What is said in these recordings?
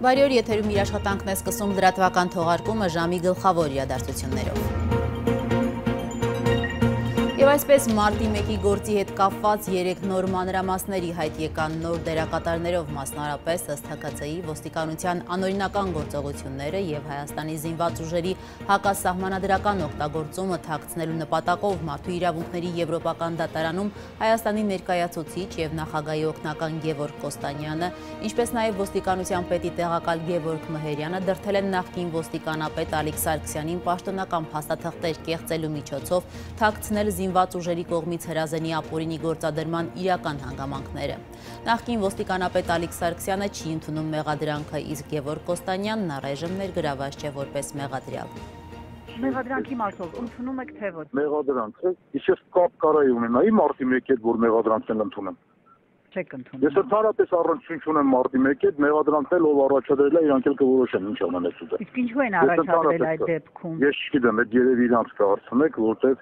Բարի օր, եթերում իր աշխատանքն է սկսում լրատվական թողարկումը ժամի գլխավոր իրադարձություններով։ Եվ այսպես մարտի 1-ի գործի հետ կապված 3 նոր մանրամասների հայտ եկան նոր դերակատարներով, մասնարապես ըստ ՀԿՑ-ի ոստիկանության անօրինական գործողությունները եւ Հայաստանի զինված ուժերի հակասահմանադրական օգտագործումը թաքցնելու նպատակով Մարդու իրավունքների եվրոպական դատարանում Հայաստանի ներկայացուցիչ եւ նախագահի օգնական Գևորգ Կոստանյանը, ինչպես նաեւ ոստիկանության պետի տեղակալ Գևորգ Մհերյանը դրդել են նախկին ոստիկանապետ Ալիկ Սարգսյանին պաշտոնական փաստաթղթեր կեղծելու միջոցով թաքցնել զինված ուժերի կողմից հրազենի ապօրինի գործադրման իրական հանգամանքները։ Նախկին ոստիկանապետ Ալիկ Սարգսյանը չի ընդունում մեղադրանքը, իսկ Գևորգ Կոստանյանն առայժմ ներգրաված չէ որպես մեղադրյալ։ Մեղադրանքի մասով ընդունում եք թե ոչ։ Մեղադրանքը իսկ կապ կարայի ունենայի մարտի 1-ի հետ, որ մեղադրանքն ընդունեմ։ Չեք ընդունում։ Ես ընդհանրապես առնչություն չունեմ մարտի 1-ի հետ, մեղադրանքն էլ ով առաջադրել է, իրանք էլ կորոշեն ինչ անելուց է։ Իսկ ինչու են առաջադրել այդ դեպքում։ Ես չգիտեմ, այդ երևի իրանք կհարցնեք, որտեղ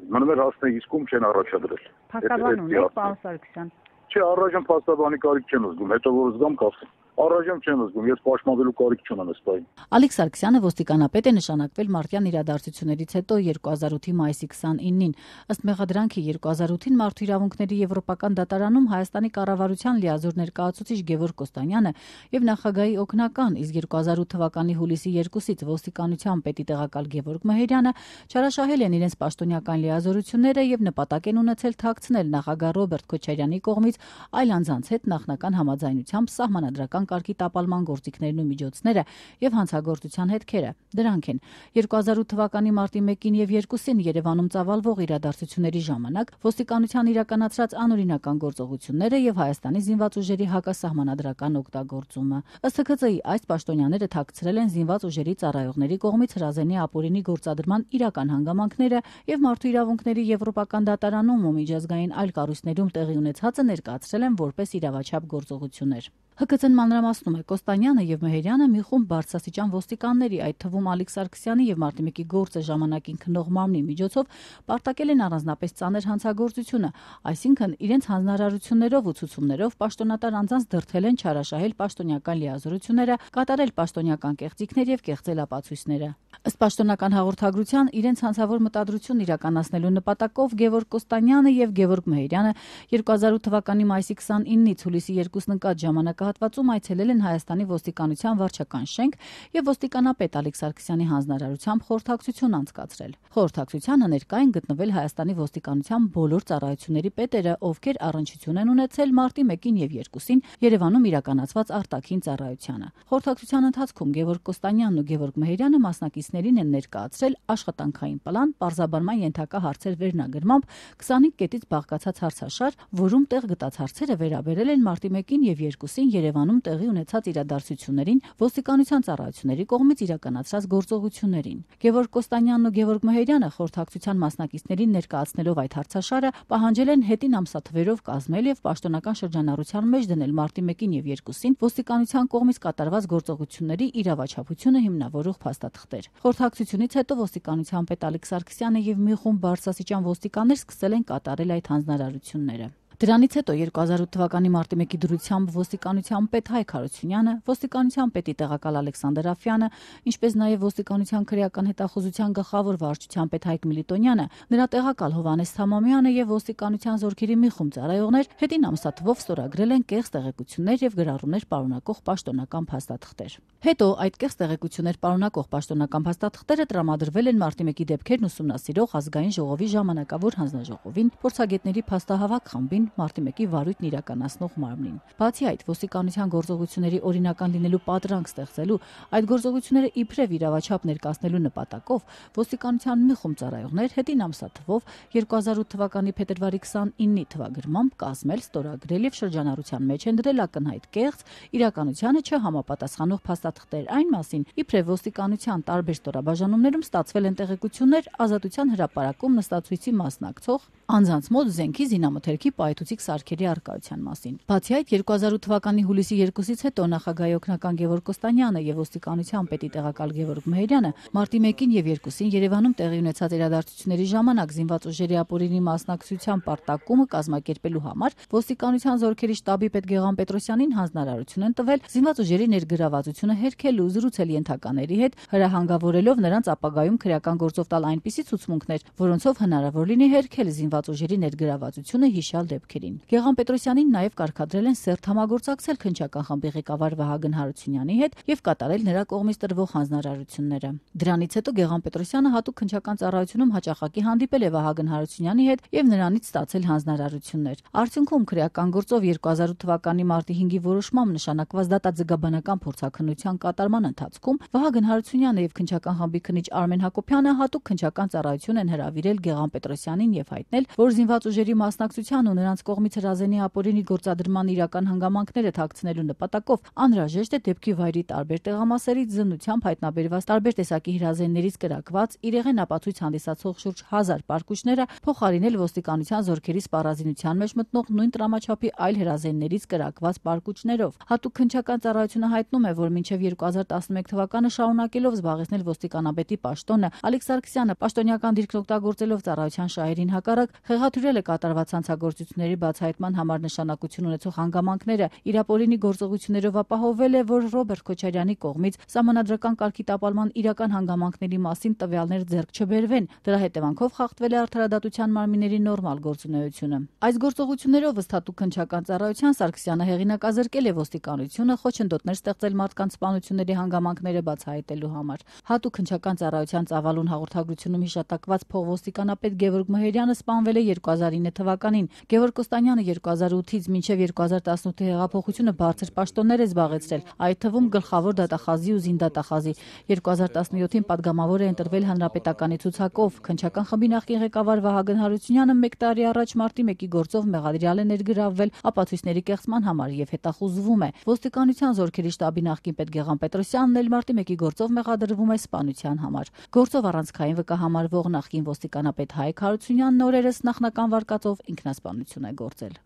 մնում էր հասնեք իսկում չեն առաջադրել։ Փաստաբան ունեք, պարոն Սարգսյան։ Չէ, առայժմ փաստաբանի կարիք չեմ զգում, հետո որ զգամ կասեմ։ Առայժմ չեմ զգում, ես պաշտպանվելու կարիք չունեմ այս պահին։ Ալիկ Սարգսյանը ոստիկանապետ է նշանակվել մարտյան իրադարձություններից հետո 2008-ի մայիսի 29-ին։ Ըստ մեղադրանքի 2008-ին Մարդու իրավունքների եվրոպական դատարանում Հայաստանի կառավարության լիազոր ներկայացուցիչ Գևորգ Կոստանյանը եւ նախագահի օգնական, իսկ 2008 թվականի հուլիսի 2-ից ոստիկանության պետի տեղակալ Գևորգ Մհերյանը չարաշահել են իրենց պաշտոնյական լիազորությունները եւ նպատակ են ունեցել թաքցնել նախագահ Ռոբերտ Քոչարյանի կողմից այլ անձանց հետ նախնական համաձայնությամբ սահմանադրական կարգի տապալման գործիքներն ու միջոցները եւ հանցագործության հետքերը։ Դրանք են 2008 թվականի մարտի 1-ին եւ 2-ին Երևանում ծավալվող իրադարձությունների ժամանակ ոստիկանության իրականացրած անօրինական գործողությունները եւ Հայաստանի զինված ուժերի հակասահմանադրական օգտագործումը։ Ըստ ՀԿՑ-ի այս պաշտոնյաները թաքցրել են զինված ուժերի ծառայողների կողմից հրազենի ապօրինի գործադրման իրական հանգամանքները եւ Մարդու իրավունքների եվրոպական դատարանում ու միջազգային այլ կառույցներում տեղի ունեցածը ներկայացրել են որպես իրավաչափ գործողություններ։ ՀԿՑ-ն մանրամասնում է Կոստանյանը եւ Մհերյանը մի խումբ բարձրաստիճան ոստիկանների, այդ թվում Ալիկ Սարգսյանի եւ մարտի 1-ի գործը ժամանակին քննող մարմնի միջոցով պարտակել են առանձնապես ծանր հանցագործությունը, այսինքն իրենց հանձնարարություններով ու ցուցումներով պաշտոնատար անձանց դրդել են չարաշահել պաշտոնյական լիազորությունները, կատարել պաշտոնյական կեղծիքներ եւ կեղծել ապացույցները։ Ըստ պաշտոնական հաղորդագրության իրենց հանցավոր մտադրությունն իրականացնելու նպատակով Գևորգ Կոստանյանը եւ Գևորգ Մհերյանը 2008 թվականի մայիսի 29-ից հուլիսի 2-ին ընկած ժամանակահատվածում այցելել են Հայաստանի ոստիկանության վարչական շենք եւ ոստիկանապետ Ալիկ Սարգսյանի հանձնարարությամբ խորհրդակցություն անցկացրել։ Խորհրդակցությանը ներկա են գտնվել Հայաստանի ոստիկանության բոլոր ծառայությունների պետերը, ովքեր առնչություն են ունեցել մարտի 1-ին եւ 2-ին Երևանում իրականացված արտաքին ծառայությանը։ Խորհրդակցության ընթացքում Գևորգ Կոստանյանն ու Գևորգ Մհերյանը մասնակիցներին են ներկայացրել աշխատանքային պլան, պարզաբանման ենթակա հարցեր վերնագրմամբ 25 կետից բաղկացած հարցաշար, որում տեղ գտած հարցերը վերաբերել են մարտի 1-ին եւ 2-ին Երևանում տեղի ունեցած իրադարձություններին, ոստիկանության ծառայությունների կողմից իրականացրած գործողություններին։ Գևորգ Կոստանյանն ու Գևորգ Մհերյանը խորհրդակցության մասնակիցներին ներկայացնելով այդ հարցաշարը պահանջել են հետին ամսաթվերով կազմել եւ պաշտոնական շրջանառության մեջ դնել մարտի 1-ին եւ 2-ին ոստիկանության կողմից կատարված գործողությունների իրավաչափությունը հիմնավորող փաստաթղթեր։ Խորհրդակցությունից հետո ոստիկանության պետ Ալիկ Սարգսյանը եւ մի խումբ բարձրաստիճան ոստիկաններ սկսել են կատարել այդ հանձնարարությունները։ Դրանից հետո 2008 թվականի մարտի 1-ի դրությամբ ոստիկանության պետ Հայկ Հարությունյանը, ոստիկանության պետի տեղակալ Ալեքսանդր Աֆյանը, ինչպես նաև ոստիկանության քրեական հետախուզության գլխավոր վարչության պետ Հայկ Միլիտոնյանը, նրա տեղակալ Հովհաննես Թամամյանը եւ ոստիկանության զորքերի մի խումբ ծառայողներ հետին ամսաթվով ստորագրել են կեղծ տեղեկություններ եւ գրառումներ պարունակող պաշտոնական փաստաթղթեր։ Հետո այդ կեղծ տեղեկություններ պարունակող պաշտոնական փաստաթղթերը տրամադրվել են մարտի 1-ի դեպքերն ուսումնասիրող ազգային ժողովի ժամանակավոր հանձնաժողովին, փորձագետների փաստահավաք խմբին, մարտի 1-ի վարույթն իրականացնող մարմնին։ Բացի այդ, ոստիկանության գործողությունների օրինական լինելու պատրանք ստեղծելու, այդ գործողությունները իբրև իրավաչափ ներկայացնելու նպատակով ոստիկանության մի խումբ ծառայողներ հետին ամսաթվով 2008 թվականի փետրվարի 29-ի թվագրմամբ կազմել, ստորագրել եւ շրջանառության մեջ են դրել ակնհայտ կեղծ, իրականությանը չհամապատասխանող փաստաթղթեր այն մասին, իբրև ոստիկանության տարբեր ստորաբաժանումներում ստացվել են տեղեկություններ ազատության հրապարակում նստածույցի մասնակցող անձանց մոտ զենքի զինամթերքի պայթ լրացուցիչ սարքերի առկայության մասին։ Բացի այդ, 2008 թվականի հուլիսի 2-ից հետո նախագահի օգնական Գևորգ Կոստանյանը եւ ոստիկանության պետի տեղակալ Գևորգ Մեհերյանը մարտի 1-ին եւ 2-ին Երևանում տեղի ունեցած իրադարձությունների ժամանակ զինված ուժերի ապօրինի մասնակցության պարտակումը կազմակերպելու համար ոստիկանության զորքերի շտաբի պետ Գեղամ Պետրոսյանին հանձնարարություն են տվել զինված ուժերի ներգրավվածությունը հերքելու, զրուցել ենթակաների հետ, հրահանգավորելով նրանց ապագայում քրեական գործով տալ այնպիսի ցուցմունքներ, որոնցով հնարավոր լինի հերքել զինված ուժերի ներգրավվածությունը հիշյալ դեպքերին։ Գեղամ Պետրոսյանին նաև կարգադրել են սերտ համագործակցել քննչական խմբի ղեկավար Վահագն Հարությունյանի հետ եւ կատարել նրա կողմից տրվող հանձնարարությունները։ Դրանից հետո Գեղամ Պետրոսյանը հատուկ քննչական ծառայությունում հաճախակի հանդիպել է Վահագն Հարությունյանի հետ եւ նրանից ստացել հանձնարարություններ։ Արդյունքում քրեական գործով 2008 թվականի մարտի 5-ի որոշմամբ նշանակված դատաձգաբանական փորձաքննության կատարման ընթացքում Վահագն Հարությունյանը եւ քննչական խմբի քննիչ Արմեն Հակոբյանը հատուկ քննչական ծառայություն են հրավիրել Գեղամ Պետրոսյանին եւ հայտնել, որ զինված ուժերի մասնակցության ու նրանց կողմից հրազենի ապօրինի գործադրման իրական հանգամանքները թաքցնելու նպատակով անհրաժեշտ է դեպքի վայրի տարբեր տեղամասերից զննությամբ հայտնաբերված տարբեր տեսակի հրազեններից կրակված իրեղեն ապացույց հանդիսացող շուրջ 1000 պարկուճները փոխարինել ոստիկանության զորքերի սպառազինության մեջ մտնող նույն տրամաչափի այլ հրազեններից կրակված պարկուճներով։ Հատուկ քննչական ծառայությունը հայտնում է, որ մինչև 2011 թվականը շարունակելով զբաղեցնել ոստիկանապետի պաշտոնը, Ալեքս Սարգսյանը պաշտոնյական դիրքն օգտագործելով ծառայության շահերին հակառակ խեղաթյուրել է կատարված հանցագործությունների բացահայտման համար նշանակություն ունեցող հանգամանքները, իր ապօրինի գործողություններով ապահովել է, որ Ռոբերտ Քոչարյանի կողմից սահմանադրական կարգի տապալման իրական հանգամանքների մասին տվյալներ ձեռք չբերվեն։ Դրա հետևանքով խախտվել է արդարադատության մարմինների նորմալ գործունեությունը։ Այս գործողություններով ըստ հատուկ քննչական ծառայության Սարգսյանը հեղինակազրկել է ոստիկանությունը խոչընդոտներ ստեղծել մարդկանց սպանությունների հանգամանքները բացահայտելու համար։ Հատուկ քննչական ծառայության ծավալուն հաղորդագրությունում հիշատակված փոխոստիկանապետ Գևորգ Մեհերյանը սպանվել է 2009 թվականին։ Գևորգ Կոստանյանը 2008-ից մինչև 2018 հեղափոխությունը բարձր պաշտոններ է զբաղեցրել, այդ թվում գլխավոր դատախազի ու զինդատախազի։ 2017-ին падգամավոր է ընտրվել հանրապետականի ցուցակով։ Քննչական խմբի նախկին ղեկավար Վահագն Հարությունյանը 1 տարի առաջ մարտի 1-ի գործով մեղադրյալ է ներգրավվել ապացույցների կեղծման համար եւ հետախուզվում է։ Ոստիկանության զորքերի շտաբի նախկին պետ Գեղամ Պետրոսյանն էլ մարտի 1-ի գործով մեղադրվում է սպանության համար։ Գործով առանցքային վկահամարվող նախկին ոստիկանապետ Հայկ Հարությունյանն օրերս նախնական վարկածով ինքնասպանություն է գործել։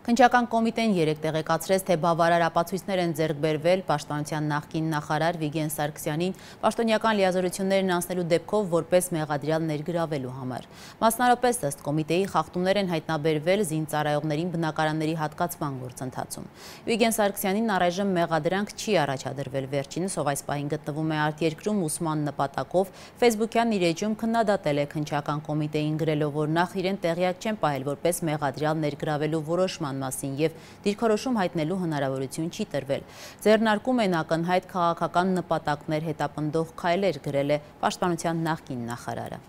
Քննչական կոմիտեն 3 տեղեկացրեց, թե բավարար ապացույցներ են ձեռք բերվել պաշտպանության նախկին նախարար Վիգեն Սարգսյանին պաշտոնյական լիազորություններն անցնելու դեպքով որպես մեղադրյալ ներգրավելու համար։ Մասնարարպես ըստ կոմիտեի խախտումներ են հայտնաբերվել զինծառայողներին բնակարանների հատկացման գործընթացում։ Վիգեն Սարգսյանին առայժմ մեղադրանք չի առաջադրվել, վերջինս, ով այս պահին գտնվում է արտերկրում ուսման նպատակով, Facebook-յան իր էջում քննադատել է քննչական կոմիտեին գրելով, որ նախ իրեն տեղյակ չեն պահել որպես մեղադրյալ ներգրավելու որոշման մասին եւ դիրքորոշում հայտնելու հնարավորություն չի տրվել։ Ձեռնարկում են ակնհայտ քաղաքական նպատակներ հետապնդող քայլեր, գրել է պաշտպանության նախկին նախարարը։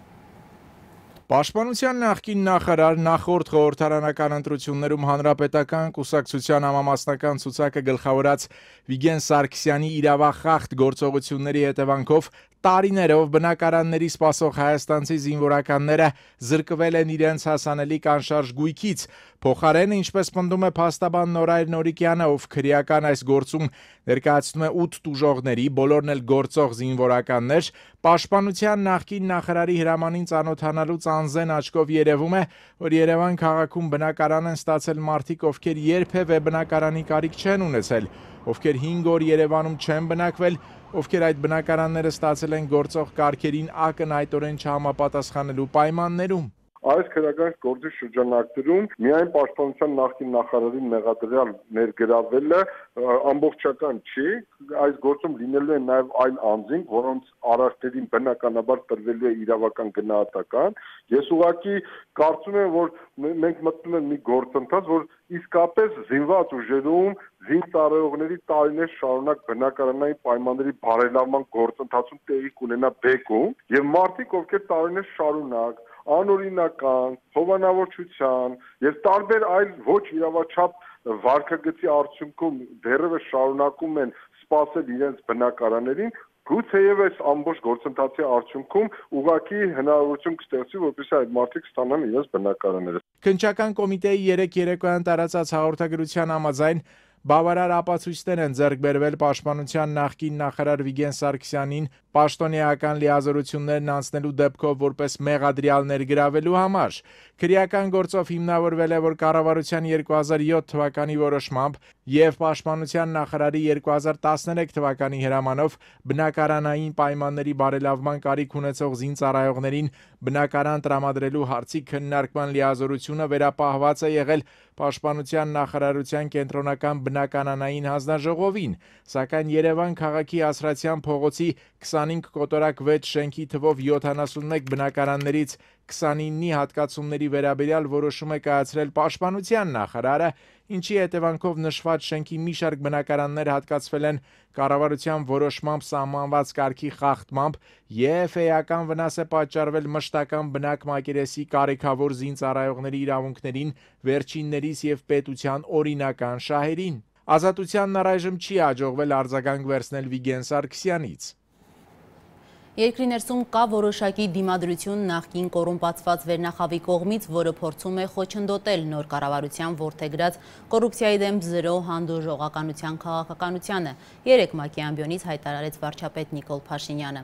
Պաշտպանության նախկին նախարար նախորդ խորհրդարանական ընտրություններում հանրապետական կուսակցության համամասնական ցուցակը գլխավորած Վիգեն Սարգսյանի իրավախախտ գործողությունների հետևանքով տարիներով բնակարանների սպասող հայաստանցի զինվորականները զրկվել են իրենց հասանելիք անշարժ գույքից։ Փոխարենը, ինչպես պնդում է փաստաբան Նորայր Նորիկյանը, ով քրեական այս գործում ներկայացնում է 8 տուժողների, բոլորն էլ գործող զինվորականներ, պաշտպանության նախկին նախարարի հրամանին ծանոթանալուց անզեն աչքով երևում է, որ Երևան քաղաքում բնակարան են ստացել մարդիկ, ովքեր երբևէ բնակարանի կարիք չեն ունեցել, ովքեր 5 օր Երևանում չեն բնակվել, ովքեր այդ բնակարանները ստացել են գործող կարգերին ակնհայտորեն չհամապատասխանելու պայմաններում։ Այս քրեական գործի շրջանակներում միայն պաշտպանության նախկին նախարարի մեղադրյալ ներգրավելը ամբողջական չի, այս գործում լինելու են նաև այլ անձինք, որոնց արարքներին բնականաբար տրվելու է իրավական գնահատական։ Ես ուղղակի կարծում եմ, որ մենք մտնում ենք մի գործընթաց, որ իսկապես զինված ուժերում զինծառայողների տարիներ շարունակ բնակարանային պայմանների բարելավման գործընթացում տեղի կունենա բեկում, եւ մարդիկ, ովքեր տարիներ շարունակ անօրինական, հովանավորչության եւ տարբեր այլ ոչ իրավաչափ վարկագծի արդյունքում դեռևս շարունակում են սպասել իրենց բնակարաններին, գուցեև այս ամբողջ գործընթացի արդյունքում ուղղակի հնարավորություն կստեղծվի, որպեսզի այդ մարդիկ ստանան իրենց բնակարանները։ Քննչական կոմիտեի 3 երեկոյան տարածած հաղորդագրության համաձայն Բավարար ապացույցներ են ձեռք բերվել պաշտպանության նախկին նախարար Վիգեն Սարգսյանին պաշտոնեական լիազորություններն անցնելու դեպքով որպես մեղադրյալ ներգրավելու համար։ Քրեական գործով հիմնավորվել է, որ կառավարության 2007 թվականի որոշմամբ եւ պաշտպանության նախարարի 2013 թվականի հրամանով բնակարանային պայմանների բարելավման կարիք ունեցող զինծառայողներին բնակարան տրամադրելու հարցի քննարկման լիազորությունը վերապահված է եղել Պաշտպանության նախարարության կենտրոնական բնակարանային հանձնաժողովին, սակայն Երևան քաղաքի Ասրատյան փողոցի 25 կոտորակ 6 շենքի թվով 71 բնակարաններից 29-ի հատկացումների վերաբերյալ որոշում է կայացրել Պաշտպանության նախարարը, ինչի հետևանքով նշված շենքի մի շարք բնակարաններ հատկացվել են կառավարության որոշմամբ սահմանված կարգի խախտմամբ եւ էական վնաս է պատճառվել մշտական բնակ մակերեսի կարեքավոր զինծառայողների իրավունքներին, վերջիններիս եւ պետության օրինական շահերին։ Ազատությանն առայժմ չի հաջողվել արձագանք վերցնել Վիգեն Սարգսյանից։ Երկրի ներսում կա որոշակի դիմադրություն նախկին կոռումպացված վերնախավի կողմից, որը փորձում է խոչընդոտել նոր կառավարության որդեգրած կոռուպցիայի դեմ զրո հանդուրժողականության քաղաքականությանը, երեկ ՄԱԿ-ի ամբիոնից հայտարարեց վարչապետ Նիկոլ Փաշինյանը։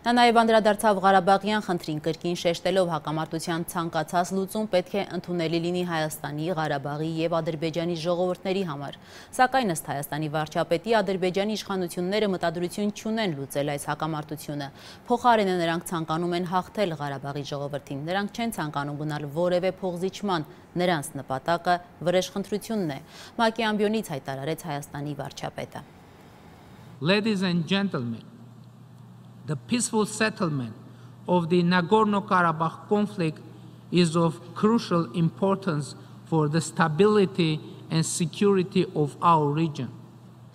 Նա նաև անդրադարձավ Ղարաբաղյան խնդրին կրկին շեշտելով հակամարտության ցանկացած լուծում պետք է ընդունելի լինի Հայաստանի, Ղարաբաղի եւ Ադրբեջանի ժողովուրդների համար։ Սակայն ըստ Հայաստանի վարչապետի Ադրբեջանի իշխանությունները մտադրություն չունեն լուծել այս հակամարտությունը։ Փոխարենը նրանք ցանկանում են հաղթել Ղարաբաղի ժողովրդին, նրանք չեն ցանկանում գնալ որևէ փոխզիջման, նրանց նպատակը վրեժխնդրությունն է, ՄԱԿ-ի ամբիոնից հայտարարեց Հայաստանի վարչապետը։ Ladies and gentlemen, the peaceful settlement of the Nagorno-Karabakh conflict is of crucial importance for the stability and security of our region.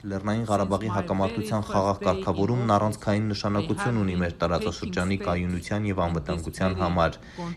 Լեռնային Ղարաբաղի հակամարտության խաղաղ կարգավորումն առանցքային նշանակություն ունի մեր տարածաշրջանի կայունության եւ անվտանգության համար։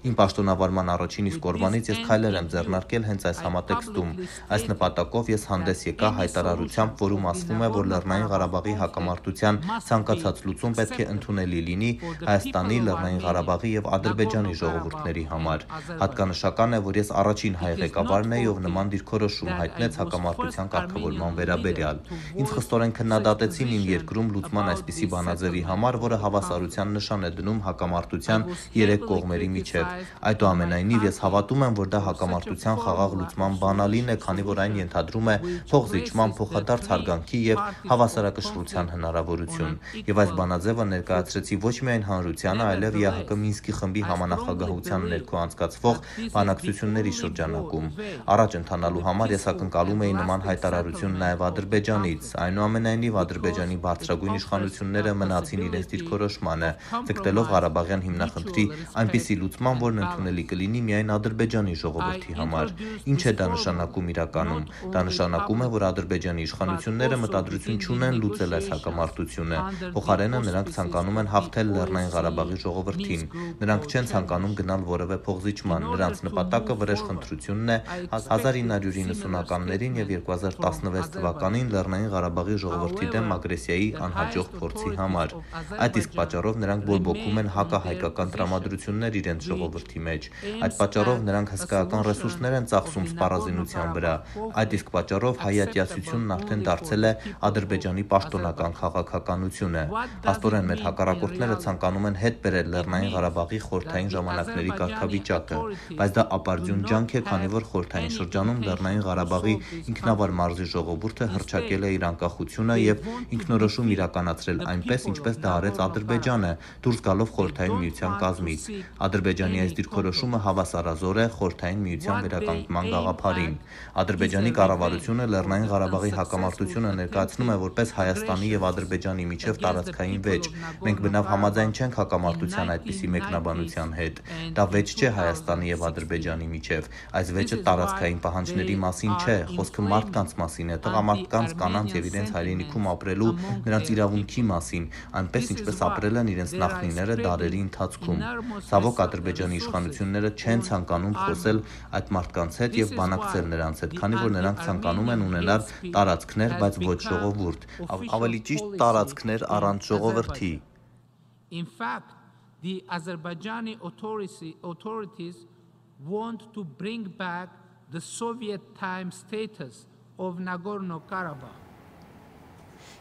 Իմ պաշտոնավարման առաջին իսկ օրվանից ես քայլեր եմ ձեռնարկել հենց այս համատեքստում։ Այս նպատակով ես հանդես եկա հայտարարությամբ, որում ասվում է, որ Լեռնային Ղարաբաղի հակամարտության ցանկացած լուծում պետք է ընդունելի լինի Հայաստանի, Լեռնային Ղարաբաղի եւ Ադրբեջանի ժողովուրդների համար։ Հատկանշական է, որ ես առաջին հայ ղեկավարն եի, ով նման դիրքորոշում հայտնեց հակամարտության կարգավորման վերաբերյալ։ Ինձ խստորեն քննադատեցին իմ երկրում լուծման այսպիսի բանաձևի համար, որը հավասարության նշան է դնում հակամարտության երեք կողմերի միջև։ Այդուամենայնիվ ես հավատում եմ, որ դա հակամարտության խաղաղ լուծման բանալին է, քանի որ այն ենթադրում է փոխզիջման, փոխադարձ հարգանքի եւ հավասարակշռության հնարավորություն։ Եվ այս բանաձևը ներկայացրեցի ոչ միայն հանրությանը, այլև ԵԱՀԿ Մինսկի խմբի համանախագահության ներքո անցկացվող բանակցությունների շրջանակում։ Առաջ ընթանալու համար ես ակնկալում էի նման հայտարարություն նաեւ Ադրբեջանից։ Այնուամենայնիվ Ադրբեջանի բարձրագույն իշխանությունները մնացին իրենց դիրքորոշմանը, ձգտելով Ղարաբաղյան հիմնախնդրի այնպիսի լուծման, որն ընդունելի կլինի միայն Ադրբեջանի ժողովրդի համար։ Ինչ է դա նշանակում իրականում։ Դա նշանակում է, որ Ադրբեջանի իշխանությունները մտադրություն չունեն լուծել այս հակամարտությունը։ Փոխարենը նրանք ցանկանում են հաղթել Լեռնային Ղարաբաղի ժողովրդին։ Նրանք չեն ցանկանում գնալ որևէ փոխզիջման։ Նրանց նպատակը վրեժխնդրությունն է 1990-ականներին եւ 2016 թվականին Լեռնային Ղարաբաղի ժողովրդի դեմ ագրեսիայի անհաջող փորձի համար։ Այդ իսկ պատճառով նրանք բորբոքում են հակահայկական տրամադրություններ իրենց ժողովրդի մեջ։ Այդ պատճառով նրանք հսկայական ռեսուրսներ են ծախսում սպառազինության վրա։ Այդ իսկ պատճառով հայատյացությունն արդեն դարձել է Ադրբեջանի պաշտոնական քաղաքականությունը։ Փաստորեն մեր հակառակորդները ցանկանում են հետ բերել Լեռնային Ղարաբաղի խորհրդային ժամանակների կարգավիճակը, բայց դա ապարդյուն ջանք է, քանի որ խորհրդային շրջանում Լեռնային Ղարաբաղի ինքնավար մարզի ժողովուրդը հռչակել է իր անկախությունը եւ ինքնորոշում իրականացրել այնպես, ինչպես դա արեց Ադրբեջանը, դուրս գալով խորհրդային միության կազմից։ Ադրբեջանի այս դիրքորոշումը հավասարազոր է խորհրդային միության վերականգնման գաղափարին։ Ադրբեջանի կառավարությունը Լեռնային Ղարաբաղի հակամարտությունը ներկայացնում է որպես Հայաստանի եւ Ադրբեջանի միջև տարածքային վեճ։ Մենք բնավ համաձայն չենք հակամարտության այդպիսի մեկնաբանության հետ։ Դա վեճ չէ Հայաստանի եւ Ադրբեջանի միջև։ Այս վեճը տարածքային պահանջների մասին չէ, խոսքը մարդկանց մասին է, տղամարդկանց, կանանց եւ իրենց հայրենիքում ապրելու նրանց իրավունքի մասին, այնպես ինչպես ապրել են իրենց նախնիները դարերի ընթացքում։ Ցավոք Ադրբեջանի իշխանությունները չեն ցանկանում խոսել այդ մարդկանց հետ եւ բանակցել նրանց հետ, քանի որ նրանք ցանկանում են ունենալ տարածքներ, բայց ոչ ժողովուրդ, ավելի ճիշտ տարածքներ առանց ժողովրդի։ In fact, the Azerbaijani authorities want to bring back the Soviet time status of Nagorno-Karabakh.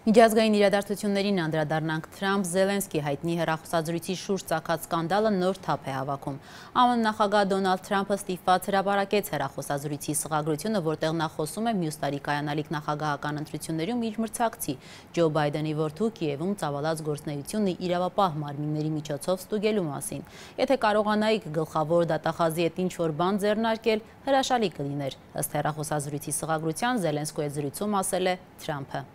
Միջազգային իրադարձություններին անդրադառնանք Թրամփ-Զելենսկի հայտնի հեռախոսազրույցի շուրջ ծագած սկանդալը նոր թափ է հավաքում։ ԱՄՆ նախագահ Դոնալդ Թրամփը ստիպված հրապարակեց հեռախոսազրույցի սղագրությունը, որտեղ նա խոսում է մյուս տարի կայանալիք նախագահական ընտրություններում իր մրցակցի Ջո Բայդենի որդու Կիևում ծավալած գործունեությունը իրավապահ մարմինների միջոցով ստուգելու մասին։ Եթե կարողանայիք գլխավոր դատախազի հետ ինչ-որ բան ձեռնարկել, հրաշալի կլիներ, ըստ հեռախոսազրույցի սղագրության Զելենսկու հետ զրույցում ասել է Թրամփը։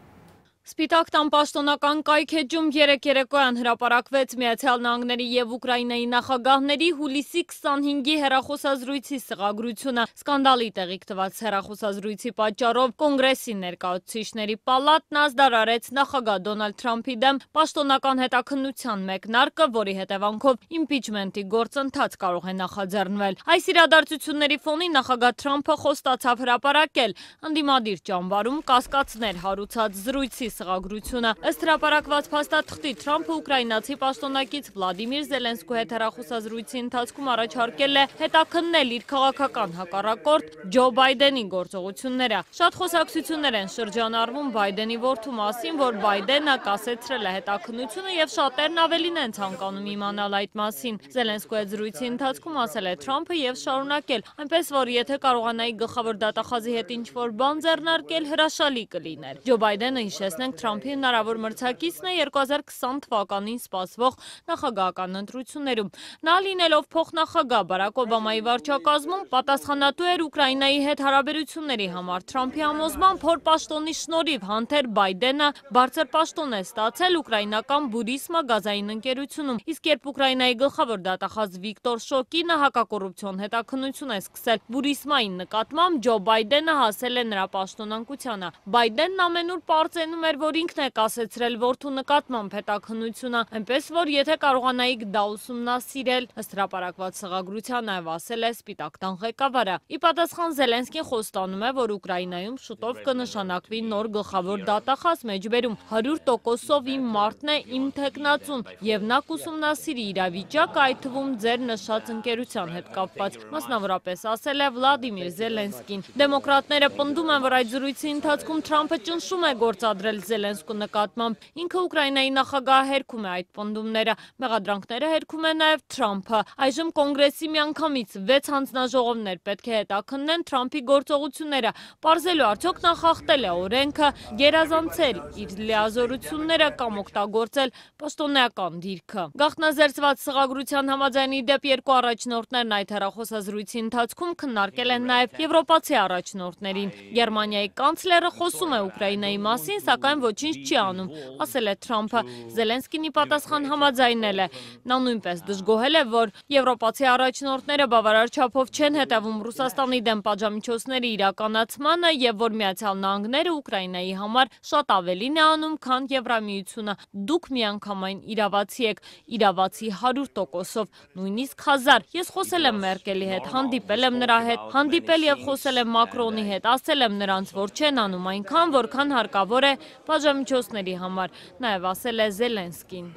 Սպիտակ տան պաշտոնական կայքեջում երեկոյան հրապարակվեց Միացյալ Նահանգների և Ուկրաինայի նախագահների հուլիսի 25-ի հեռախոսազրույցի սղագրությունը։ Սկանդալի տեղիք տված հեռախոսազրույցի պատճառով Կոնգրեսի ներկայացուցիչների պալատն ազդարարեց նախագահ Դոնալդ Թրամփի դեմ պաշտոնական հետաքննության մեկնարկը, որի հետևանքով իմպիչմենտի գործընթաց կարող է նախաձեռնվել։ Այս իրադարձությունների ֆոնին նախագահ Թրամփը խոստացավ հրապարակել ընդդիմադիր ճամբարում կասկածներ հարուցած զրույցի սղագրությունը։ Ըստ հրապարակված փաստաթղթի Թրամփը ուկրաինացի պաշտոնակից Վլադիմիր Զելենսկու հետ հեռախոսազրույցի ընթացքում առաջարկել է հետաքննել իր քաղաքական հակառակորդ Ջո Բայդենի գործողությունները։ Շատ խոսակցություններ են շրջանառվում Բայդենի որդու մասին, որ Բայդենը կասեցրել է հետաքննությունը եւ շատերն ավելին են ցանկանում իմանալ այդ մասին։ Զելենսկու հետ զրույցի ընթացքում ասել է Թրամփը եւ շարունակել, այնպես որ եթե կարողանայի գլխավոր դատախազի հետ ինչ-որ բան ձեռնարկել, հրաշալի կլիներ։ Ջո Բայդենը հիշեցնենք Թրամփի հնարավոր մրցակիցն է 2020 թվականին սպասվող նախագահական ընտրություններում։ Նա լինելով փոխնախագահ Բարակ Օբամայի վարչակազմում պատասխանատու էր Ուկրաինայի հետ հարաբերությունների համար։ Թրամփի համոզմամբ հոր պաշտոնի շնորհիվ Հանթեր Բայդենը բարձր պաշտոն է ստացել ուկրաինական Բուրիսմա գազային ընկերությունում, իսկ երբ Ուկրաինայի գլխավոր դատախազ Վիկտոր Շոկինը հակակոռուպցիոն հետաքննություն է սկսել Բուրիսմայի նկատմամբ, Ջո Բայդենը հասել է նրա պաշտոնակությանը։ Բայդենն ամենուր պարծենում էր, որ ինքն է կասեցրել որդու նկատմամբ հետաքննությունը, այնպես որ եթե կարողանայիք դա ուսումնասիրել, ըստ հրապարակված սղագրության նաև ասել է Սպիտակ տան ղեկավարը։ Ի պատասխան Զելենսկին խոստանում է, որ Ուկրաինայում շուտով կնշանակվի նոր գլխավոր դատախազ մեջբերում 100%-ով իմ մարդն է, իմ թեկնածուն, եւ նա կուսումնասիրի իրավիճակը, այդ թվում ձեր նշած ընկերության հետ կապված, մասնավորապես ասել է Վլադիմիր Զելենսկին։ Դեմոկրատները պնդում են, որ այդ զրույցի ընթացքում Թրամփը ճնշում է գործադրել Զելենսկու նկատմամբ։ Ինքը Ուկրաինայի նախագահը հերքում է այդ պնդումները, մեղադրանքները հերքում է նաև Թրամփը։ Այժմ Կոնգրեսի միանգամից 6 հանձնաժողովներ պետք է հետաքննեն Թրամփի գործողությունները, պարզելու արդյոք նա խախտել է օրենքը, գերազանցել իր լիազորությունները կամ օգտագործել պաշտոնեական դիրքը։ Գաղտնազերծված սղագրության համաձայն ի դեպ երկու առաջնորդներն այդ հեռախոսազրույցի ընթացքում քննարկել են նաև եվրոպացի առաջնորդներին։ Գերմանիայի կանցլերը խոսում է Ուկրաինայի մասին, սակայն ոչինչ չի անում, ասել է Թրամփը։ Զելենսկին ի պատասխան համաձայնել է։ Նա նույնպես դժգոհել է, որ եվրոպացի առաջնորդները բավարար չափով չեն հետևում Ռուսաստանի դեմ պատժամիջոցների իրականացմանը եւ որ Միացյալ Նահանգները Ուկրաինայի համար շատ ավելին է անում, քան Եվրամիությունը։ Դուք միանգամայն իրավացի եք, իրավացի 100%-ով, նույնիսկ 1000։ Ես խոսել եմ Մերկելի հետ, հանդիպել եմ նրա հետ, հանդիպել եւ խոսել եմ Մակրոնի հետ, ասել եմ նրանց, որ չեն անում այնքան, որքան հարկավոր է պատժամիջոցների համար, նաև ասել է Զելենսկին։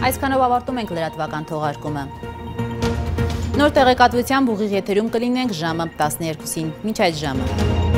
Այսքանով ավարտում ենք լրատվական թողարկումը։ Նոր տեղեկատվությամբ ուղիղ եթերում կլինենք ժամը 12-ին։ Մինչ այդ ժամը։